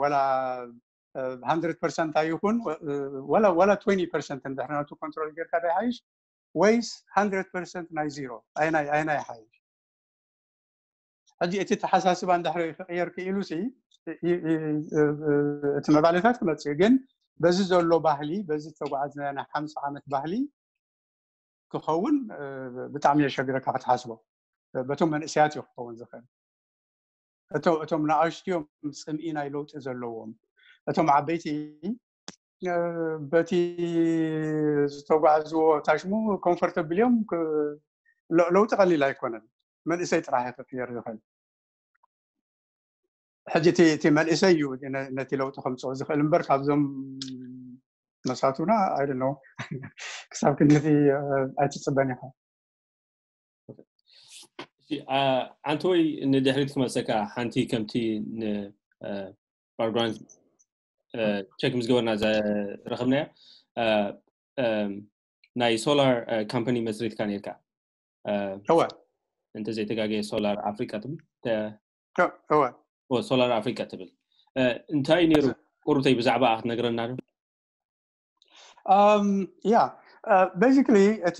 ወላ hundred percent ኣይኹን ወላ ወላ twenty percent እንድሕር ነቱ ኮንትሮል ጌርካ ዶ ይሓይሽ ወይስ hundred percent ናይ ዜሮ ኣይናይ ኣይናይ ይሓይሽ ሕጂ እቲ ተሓሳስባ እንድሕር ክቕየር ክኢሉ ሲ እቲ መባለታት ክመፅእ ግን በዚ ዘሎ ባህሊ በዚ ዝተጓዓዝናዮ ናይ ሓምሳ ዓመት ባህሊ ክኸውን ብጣዕሚ የሸግረካ ክትሓስቦ በቶም መንእሰያት እዩ ክኸውን ዝኽእል እቶም ንኣሽትዮም ፅምኢ ናይ ለውጢ ዘለዎም እቶም ዓበይቲ በቲ ዝተጓዓዝዎ ታሽሙ ኮምፎርተብል እዮም ለውጢ ቀሊል ኣይኮነን መንእሰይ ጥራሕ ክቅየር ዝኽእል ሕጂ እቲ መንእሰይ እዩ ነቲ ለውጢ ከምፅኦ ዝኽእል እምበር ካብዞም መሳቱና I don't know ክሳብ ክንድቲ ኣይትፅበን ኢኻ ኣንተ ወይ ንድሕሪት ክመፀካ ሓንቲ ከምቲ ንባክግራውንድ ቸክ ምስ ገበርና ዝረኸብናዮ ናይ ሶላር ካምፓኒ መስሪትካ ነርካ እወ እንተዘይተጋገየ ሶላር ኣፍሪቃ ትብል እወ ሶላር ኣፍሪቃ ትብል እንታይ ነይሩ ቁሩተይ ብዛዕባ ክትነግረና ዶ ያ basically እቲ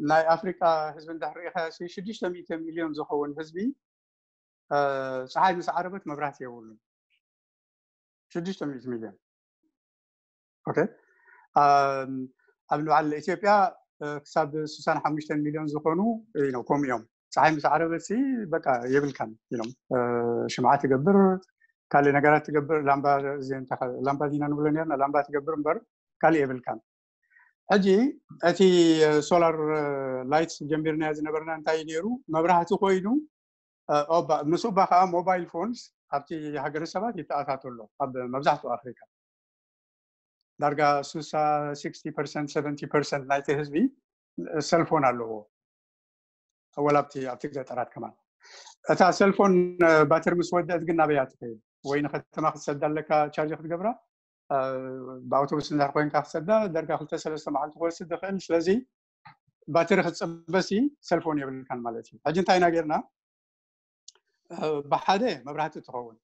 ናይ ኣፍሪቃ ህዝቢ እንድሕር ርኢኻ ሽዱሽተ ሚእቲ ሚልዮን ዝኸውን ህዝቢ ፀሓይ ምስ ዓረበት መብራህቲ የብሉን ሽዱሽተ ሚእቲ ሚልዮን ኦኬ ኣብ ንበዓል ኢትዮጵያ ክሳብ ስሳን ሓሙሽተን ሚልዮን ዝኾኑ ከምኡ እዮም ፀሓይ ምስ ዓረበት ሲ በቃ የብልካን ኢሎም ሽምዓ ትገብር ካልእ ነገራት ትገብር ላምባ ላምባ ዲና ንብሎ ነርና ላምባ ትገብር እምበር ካልእ የብልካን ሕጂ እቲ ሶላር ላይትስ ጀሚርናዮ ዝነበርና እንታይ እዩ ነይሩ? መብራህቲ ኮይኑ ምስኡ ባ ከዓ ሞባይል ፎንስ ኣብቲ ሃገረ ሰባት ይተኣታቶ ኣሎ። ኣብ መብዛሕትኡ ኣፍሪካ ዳርጋ ሱሳ ፐርሰንት ናይቲ ህዝቢ ሰልፎን ኣለዎ። ወላ ኣብቲ ኣብቲ ገጠራት ከማን እታ ሰልፎን ባትሪ ምስ ወደእት ግን ናበያ ትኸይድ? ወይ ንከተማ ክትሰዳ ኣለካ ቻርጅ ክትገብራ። ብኣውቶቡስ እንድሕር ኮይንካ ክትሰዳ ደርጋ ክልተ ሰለስተ መዓልቲ ክወስድ ዝኽእል። ስለዚ ባትሪ ክትፅበሲ ሰልፎን የብልካን ማለት እዩ። ሕጂ እንታይ ኢና ጌርና? ብሓደ መብራህቲ ትኸውን፣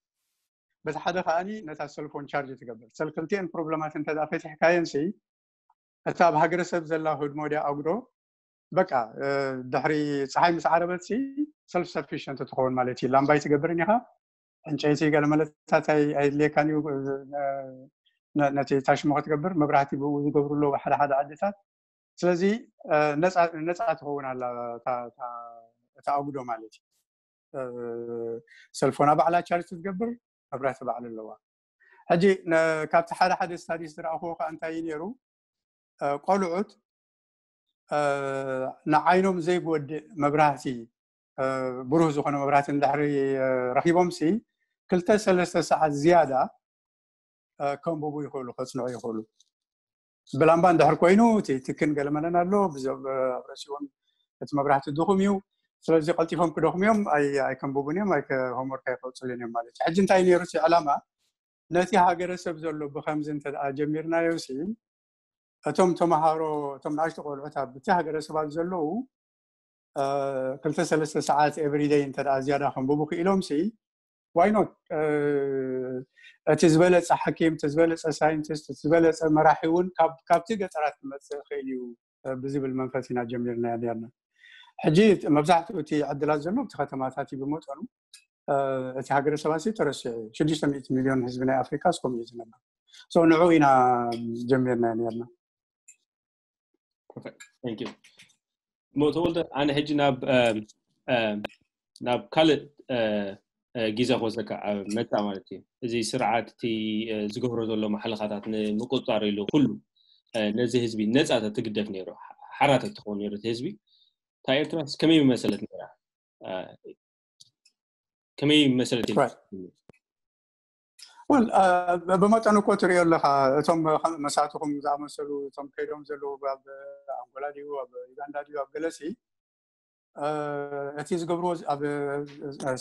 በቲ ሓደ ከዓኒ ነታ ሰልፎን ቻርጅ ትገብር። ሰል ክልቲኤን ፕሮብለማት እንተ ፈቲሕካየን ሲ እታ ኣብ ሃገረሰብ ዘላ ህድሞ ድያ ኣጉዶ በቃ ድሕሪ ፀሓይ ምስ ዓረበት ሲ ሰልፍ ሰፊሽንት ትኸውን ማለት እዩ። ላምባይ ትገብርን ኢኻ፣ ዕንጨይቲ ገለ መለታት ኣየድልየካን እዩ። ነቲ ታሽሞ ክትገብር መብራህቲ ብኡ ዝገብሩ ኣለዉ ሓደ ሓደ ዓድታት። ስለዚ ነፃ ትኸውን ኣላ እታ ኣጉዶ ማለት እዩ። ሰልፎና ባዕላ ቻርጅ ትገብር፣ መብራህቲ ባዕሉ ኣለዋ። ሕጂ ካብቲ ሓደ ሓደ ስታዲስ ዝረኣኽዎ ከዓ እንታይ እዩ ነይሩ? ቆልዑት ንዓይኖም ዘይጎድእ መብራህቲ፣ ብሩህ ዝኾነ መብራህቲ እንድሕሪ ረኺቦም ሲ ክልተ ሰለስተ ሰዓት ዝያዳ ከንብቡ ይኽእሉ፣ ከፅንዑ ይኽእሉ። ብላምባ እንድሕር ኮይኑ እቲ ትክን ገለመለን ኣሎ፣ ኣብ ርእሲኦም እቲ መብራህቲ ድኹም እዩ። ስለዚ ቀልጢፎም ክደኽሙ እዮም፣ ኣይከንብቡን እዮም፣ ሆምወርክ ኣይከውፅልን እዮም ማለት እዩ። ሕጂ እንታይ ነይሩ እቲ ዕላማ? ነቲ ሃገረሰብ ዘሎ ብከምዚ እንተ ጀሚርናዮ ሲ እቶም ተምሃሮ፣ እቶም ንኣሽቱ ቆልዑት ኣብቲ ሃገረሰባት ዘለዉ ክልተ ሰለስተ ሰዓት ኤቭሪደይ እንተ ዝያዳ ከንብቡ ክኢሎም ሲ ዋይኖት እቲ ዝበለፀ ሓኪም፣ እቲ ዝበለፀ ሳይንቲስት፣ እቲ ዝበለፀ መራሒ እውን ካብቲ ገጠራት ክመፅእ ይኽእል እዩ ብዝብል መንፈስ ኢና ጀሚርና ነርና። ሕጂ መብዛሕትኡ እቲ ዕድላት ዘሎ እቲ ከተማታት እዩ ብመጠኑ። እቲ ሃገረ ሰባት ተረሲዑ እዩ። ሽዱሽተ ሚእቲ ሚሊዮን ህዝቢ ናይ ኣፍሪካ እስከምኡ እዩ ዝነበር። ንዑ ኢና ጀሚርና ነርና። ተወልደ፣ ኣነ ሕጂ ናብ ናብ ካልእ ግዜ ክወስደካ መፃ ማለት እዩ። እዚ ስርዓት እቲ ዝገብሮ ዘሎ ማሕለኻታት ንምቁፅፃር ኢሉ ኩሉ ነዚ ህዝቢ ነፃ ትግደፍ ነይሩ፣ ሓራት ትኸውን ነይሩ እቲ ህዝቢ። እታ ኤርትራስ ከመይ መሰለት ነይራ? ከመይ መሰለት? ወል ብመጠኑ እኮ ትሪኦ ኣለካ። እቶም መሳትኹም ዝኣመሰሉ እቶም ከይዶም ዘለዉ ኣብ ኣንጎላ ድዩ ኣብ ዩጋንዳ ድዩ ኣብ ገለሲ እቲ ዝገብርዎ ኣብ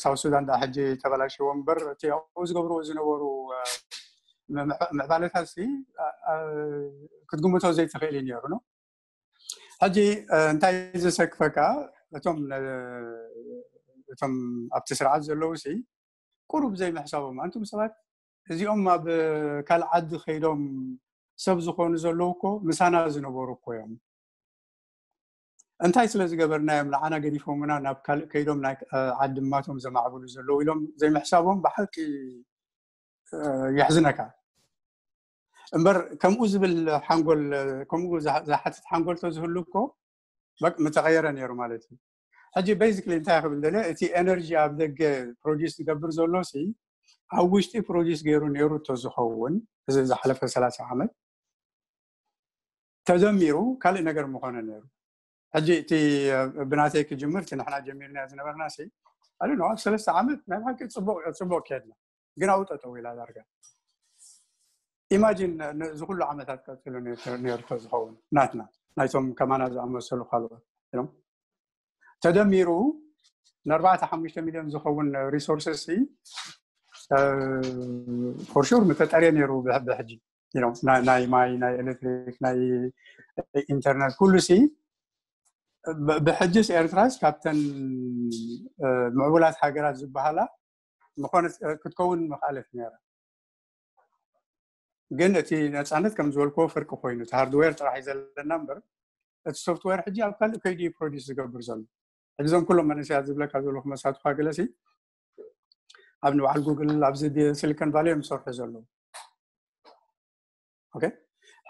ሳውት ሱዳን ዳ ሕጂ ተበላሽዎ እምበር እቲ ኣብኡ ዝገብርዎ ዝነበሩ ምዕባለታት ሲ ክትግምቶ ዘይትኽእል እዩ ነይሩ ነው። ሕጂ እንታይ ዘሰክፈካ እቶም እቶም ኣብቲ ስርዓት ዘለዉ ሲ ቁሩብ ዘይምሕሳቦም ኣንቱም ሰባት እዚኦም ኣብ ካልእ ዓዲ ከይዶም ሰብ ዝኾኑ ዘለዉ እኮ ምሳና ዝነበሩ እኮ እዮም። እንታይ ስለ ዝገበርና እዮም ንዓና ገዲፎምና ናብ ካልእ ከይዶም ናይ ዓዲ ማቶም ዘማዕብሉ ዘለዉ ኢሎም ዘይምሕሳቦም ብሓቂ የሕዝነካ። እምበር ከምኡ ዝብል ሓንጎል ከምኡ ዝሓትት ሓንጎል ተዝህሉ እኮ ምተቐየረ ነይሩ ማለት እዩ። ሕጂ basically እንታይ ክብል ደለ እቲ ኤነርጂ ኣብ ደገ ፕሮዲስ ዝገብር ዘሎ ሲ ኣብ ውሽጢ ፕሮዲስ ገይሩ ነይሩ ተዝኸውን እዚ ዝሓለፈ ሰላሳ ዓመት ተደሚሩ ካልእ ነገር ምኾነ ነይሩ። ሕጂ እቲ ብናተይ ክጅምር እቲ ንሕና ጀሚርና ዝነበርና ሲ ኣሉ ኣብ ሰለስተ ዓመት ናይ ብሓቂ ፅቡቅ ከድና ግን ኣብኡ ጠጠው ኢላ ዳርጋ ኢማጂን እዚ ኩሉ ዓመታት ቀፂሉ ነርቶ ዝኸውን ናትና ናይቶም ከማና ዝኣመሰሉ ካልኦት ተደሚሩ ንኣርባዕተ ሓሙሽተ ሚሊዮን ዝኸውን ሪሶርስስ ፎርሹር ምተጠርየ ነይሩ ብሕጂ ናይ ማይ ናይ ኤሌክትሪክ ናይ ኢንተርነት ኩሉ ሲ ብሕጅስ ኤርትራስ ካብተን ምዕቡላት ሃገራት ዝበሃላ ምኾነት ክትከውን ምኽኣለት ነይራ። ግን እቲ ነፃነት ከም ዝበልክዎ ፍርቂ ኮይኑ እቲ ሃርድዌር ጥራሕ እዩ ዘለና እምበር እቲ ሶፍትዌር ሕጂ ኣብ ካልእ ከይዲ ፕሮዲስ ዝገብር ዘሎ። ሕጂ እዞም ኩሎም መንእሰያት ዝብለካ ዘለኹ መሳትኳ ገለሲ ኣብ ንባዕል ጉግል ኣብዚ ሲሊኮን ቫሊ እዮም ዝሰርሑ ዘለዉ።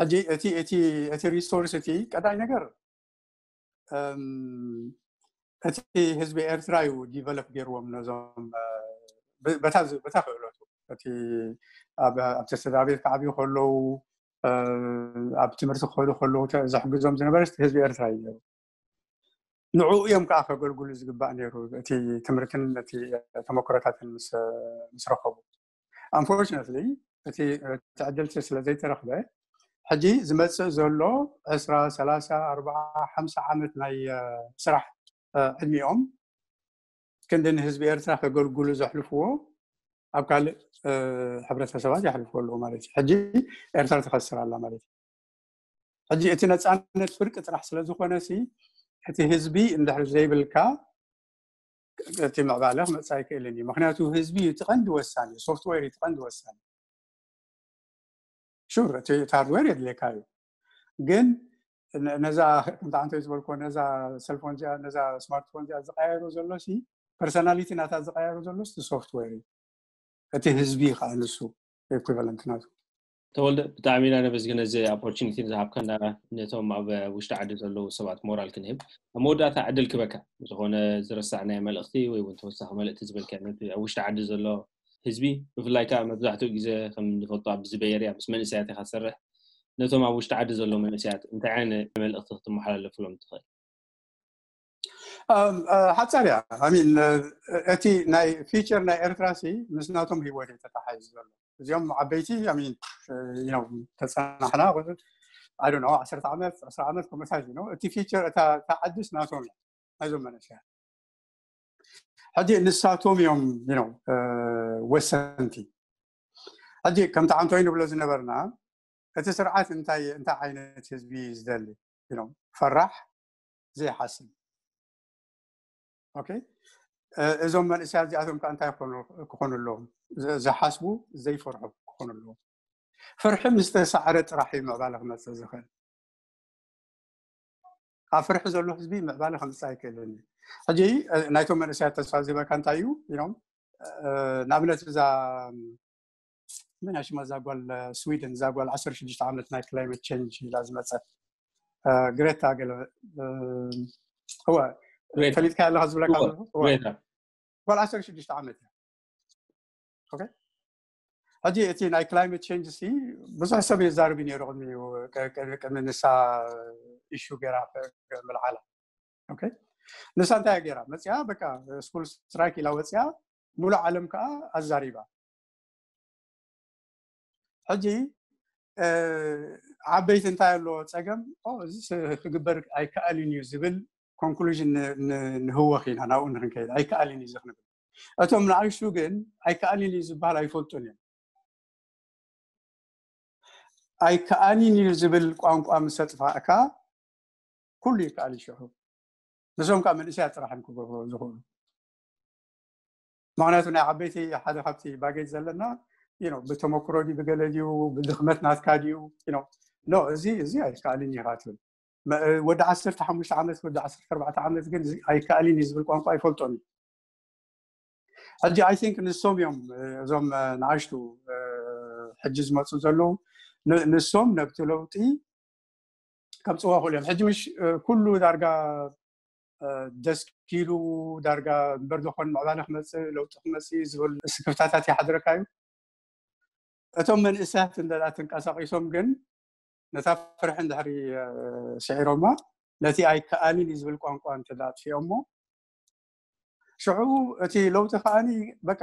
ሕጂ እቲ ሪሶርስ እቲ ቀዳይ ነገር እቲ ህዝቢ ኤርትራ እዩ ዲቨሎፕ ገይርዎም ነዞም በታ ክእለቱ እቲ ኣብቲ ስድራ ቤት ክዓብዩ ከለዉ ኣብ ትምህርቲ ክኸዱ ከለዉ ዘሕግዞም ዝነበረ ህዝቢ ኤርትራ እዩ ነሩ። ንዕኡ እዮም ከዓ ከገልግሉ ዝግባእ ነሩ፣ እቲ ትምህርትን እቲ ተመክሮታትን ምስ ረኸቡ። Unfortunately እቲ ዕድልቲ ስለ ዘይተረኽበ ሕጂ ዝመፅእ ዘሎ ዕስራ፣ ሰላሳ፣ ኣርባዓ፣ ሓምሳ ዓመት ናይ ስራሕ ዕድሚኦም ክንዲ ንህዝቢ ኤርትራ ከገልግሉ ዘሕልፍዎ ኣብ ካልእ ሕብረተሰባት የሕልፍዎ ኣለዉ ማለት እዩ። ሕጂ ኤርትራ ትኸስር ኣላ ማለት እዩ። ሕጂ እቲ ነፃነት ፍርቂ ጥራሕ ስለ ዝኾነ ሲ እቲ ህዝቢ እንድሕር ዘይብልካ እቲ ምዕባለ ክመፅእ ኣይክእልን እዩ። ምክንያቱ ህዝቢ እዩ እቲ ቀንዲ ወሳኒ፣ ሶፍትዌር እዩ እቲ ቀንዲ ወሳኒ። ሹር እቲ ሃርድዌር የድልየካ እዩ፣ ግን ነዛ ከምታ ዓንተ ዝበልኮ ነዛ ሰልፎን እዚኣ ነዛ ስማርትፎን እዚኣ ዝቀያየሩ ዘሎ ሲ ፐርሶናሊቲ ናታ ዝቀያየሩ ዘሎ እቲ ሶፍትዌር እዩ። እቲ ህዝቢ ከዓ ንሱ ኢኩቫለንት ናቱ። ተወልደ፣ ብጣዕሚ ኢና ነመስግን እዚ ኦፖርቹኒቲ ዝሃብካና። ነቶም ኣብ ውሽጢ ዓዲ ዘለዉ ሰባት ሞራል ክንህብ ኣብ መወዳእታ ዕድል ክበካ ዝኾነ ዝረሳዕናዮ መልእኽቲ ወይ እውን ተወሳኺ መልእክቲ ዝበልካ ነቲ ኣብ ውሽጢ ዓዲ ዘሎ ህዝቢ፣ ብፍላይ ከዓ መብዛሕትኡ ግዜ ከም ንፈልጦ ኣብዚ በየርያ ምስ መንእሰያት ኢካ ትሰርሕ፣ ነቶም ኣብ ውሽጢ ዓዲ ዘለዉ መንእሰያት እንታይ ዓይነት መልእክቲ ክትመሓላለፍሎም ትኽእል? ሓፃር እያ ሚን እቲ ናይ ፊቸር ናይ ኤርትራ ሲ ምስ ናቶም ህይወት እዩ ተተሓሒዙ ዘሎ። እዚኦም ዓበይቲ ሚን ተፀናሕና ኣይ ዶንት ኖ ዓሰርተ ዓመት ዕስራ ዓመት ከምኡታት እዩ። እቲ ፊቸር እታ ዓድስ ናቶም እያ ናይዞም መንእሰያት። ሕጂ ንሳቶም እዮም ወሰንቲ። ሕጂ ከምቲ ዓንቶይ ንብሎ ዝነበርና እቲ ስርዓት እንታይ እንታይ ዓይነት ህዝቢ እዩ ዝደሊ? ፈራሕ፣ ዘይሓስብ። ኦኬ፣ እዞም መንእሰያት እዚኣቶም ከዓ እንታይ ክኾኑ ኣለዎም? ዝሓስቡ ዘይፈርሑ ክኾኑ ኣለዎም። ፍርሒ ምስ ተሳዕረ ጥራሕ እዩ ምዕባለ ክመፅእ ዝኽእል። ኣብ ፍርሒ ዘሎ ህዝቢ ምዕባለ ከምፅእ ኣይክእልን እዩ። ሕጂ ናይቶም መንእሰያት ተስፋ ዝህበካ እንታይ እዩ ኢሎም ንኣብነት እዛ መን ሽማ እዛ ጓል ስዊድን እዛ ጓል ዓሰርተ ሽዱሽተ ዓመት ናይ ክላይመት ቸንጅ ኢላ ዝመፀት ግሬታ ገለ እወ ፈሊጥካ ኣለካ ዝብለካ ጓል ዓሰርተ ሽዱሽተ ዓመት እያ። ሕጂ እቲ ናይ ክላይመት ቸንጅ ሲ ብዙሕ ሰብ የዛርብ ነይሩ ቅድሚ ንሳ ኢሹ ገይራ ምልዓላ። ንሳ እንታይ ገይራ መፅያ በቃ ስኩል ስትራይክ ኢላ ወፅያ ሙሉእ ዓለም ከዓ ኣዛሪባ። ሕጂ ዓበይቲ እንታይ ኣለዎ ፀገም እዚ ክግበር ኣይከኣልን እዩ ዝብል ኮንክሉዥን ንህወኽ ኢና ናብኡ ንክንከይድ ኣይከኣልን እዩ ዝክንብል። እቶም ንኣይሹ ግን ኣይከኣልን እዩ ዝበሃል ኣይፈልጡን እዮም። ኣይከኣልን እዩ ዝብል ቋንቋ ምስ ኣጥፋእካ ኩሉ ይከኣል ይሽሑ። ንሶም ከዓ መንእሰያት ጥራሕ እዮም ክገብሩ ዝኽእሉ። ምክንያቱ ናይ ዓበይቲ ሓደ ካብቲ ባጌጅ ዘለና ብተመክሮ ድዩ ብገለ ድዩ ብድኽመት ናትካ ድዩ ኖ እዚ እዚ ኣይከኣልን ኢኻ ትብል። ወዲ ዓሰርተ ሓሙሽተ ዓመት ወዲ ዓሰርተ ኣርባዕተ ዓመት ግን ኣይከኣልን እዩ ዝብል ቋንቋ ኣይፈልጦን እዩ። ሕጂ ኣይ ቲንክ ንሶም እዮም እዞም ንኣሽቱ ሕጂ ዝመፁ ዘለዉ ንሶም ነብቲ ለውጢ ከምፅዋ ክእሉ እዮም። ሕጂ ምሽ ኩሉ ዳርጋ ደስኪሉ ዳርጋ እምበር ዝኾን ምዕባለ ክመፅእ ለውጢ ክመፅእ ዝብል ስክፍታታት ይሓድረካ እዩ። እቶም መንእሰያት እንደ ተንቀሳቂሶም ግን ነታ ፍርሒ እንድሕሪ ስዒሮማ ነቲ ኣይከኣልን እዩ ዝብል ቋንቋ እንተ ኣጥፊኦሞ ሽዑ እቲ ለውጢ ከዓኒ በቃ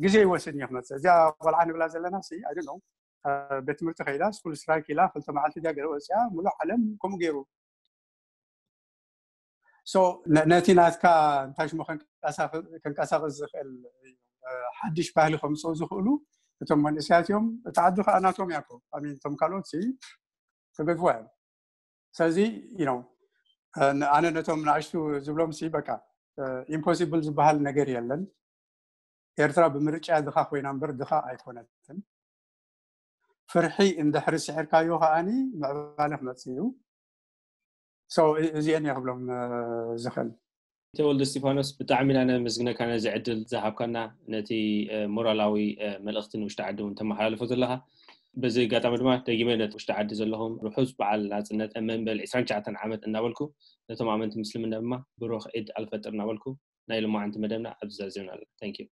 ግዜ ይወስድ እዩ ክመፅእ። እዚኣ ቆልዓ ንብላ ዘለና ሲ ኣይ ነው ቤት ትምህርቲ ከይዳ ስኩል ስትራይክ ኢላ ክልተ መዓልቲ ዲያ ገለ ወፅያ ሙሉእ ዓለም ከምኡ ገይሩ ነቲ ናትካ እንታይ ሽሞ ከንቀሳቅስ ዝኽእል ሓድሽ ባህሊ ከምፅኡ ዝኽእሉ እቶም መንእሰያት እዮም። እቲ ዓዲ ከዓ ናቶም እያ እቶም ካልኦት ክገድፉ እዮም። ስለዚ ኣነ ነቶም ንኣሽቱ ዝብሎም ሲ በቃ ኢምፖሲብል ዝበሃል ነገር የለን። ኤርትራ ብምርጫ ድኻ ኮይና እምበር ድኻ ኣይኮነትን። ፍርሒ እንድሕሪ ስዒርካዮ ከዓኒ ምዕባለ ክመፅእ እዩ። እዚአን እየ ክብሎም ዝኽእል። ተወልደ እስጢፋኖስ ብጣዕሚ ኢና ነመስግነካ ነዚ ዕድል ዝሃብካና ነቲ ሞራላዊ መልእኽቲ ንውሽጢ ዓዲ እውን ተመሓላልፎ ዘለኻ። በዚ ኣጋጣሚ ድማ ደጊመ ነቲ ውሽጢ ዓዲ ዘለኹም ርሑስ በዓል ናፅነት መበል ዕስራን ትሽዓተን ዓመት እናበልኩ ነቶም ኣመንቲ ምስልምና ድማ ብሩኽ ዒድ ኣልፈጥር እናበልኩ ናይ ሎማዓንቲ መደብና ኣብዚ ዛዚምና ኣለና።